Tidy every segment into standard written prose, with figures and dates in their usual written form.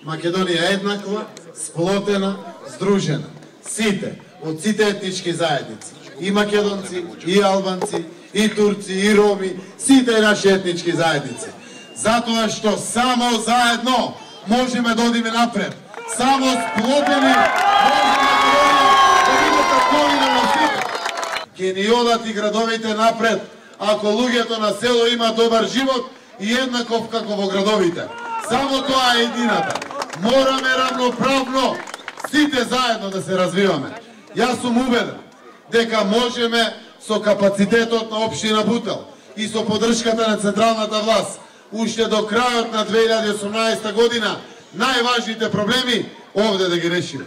Македонија е еднаква, сплотена, здружена. Сите, од сите етнички заедници. И македонци, и албанци, и турци, и роми, сите наши етнички заедници. Затоа што само заедно можеме да одиме напред. Само сплотени можеме да биде татковина на сите. Ке ни одат и градовите напред, ако луѓето на село има добар живот и еднаков како во градовите. Само тоа е едината. Мораме равноправно сите заедно да се развиваме. Јас сум убеден дека можеме со капацитетот на општина Бутел и со поддршката на централната власт уште до крајот на 2018 година најважните проблеми овде да ги решиме.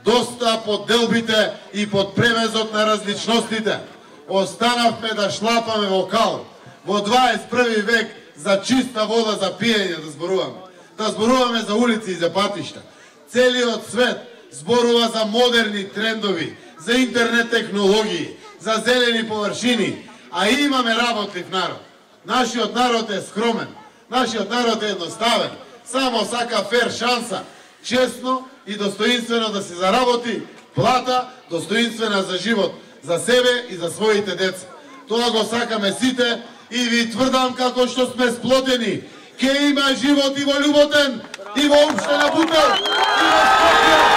Доста под делбите и под превезот на различностите останавме да шлапаме во кал. Во 21 век за чиста вода за пиење да зборуваме. Да зборуваме за улици и за патишта. Целиот свет зборува за модерни трендови, за интернет технологии, за зелени површини, а имаме работлив народ. Нашиот народ е скромен, нашиот народ е едноставен, само сака фер шанса, честно и достоинствено да се заработи плата, достоинствена за живот, за себе и за своите деца. Тоа го сакаме сите и ви тврдам како што сме сплотени, ке има живот и во Љуботен, и во општина Бутел, и во Скопје.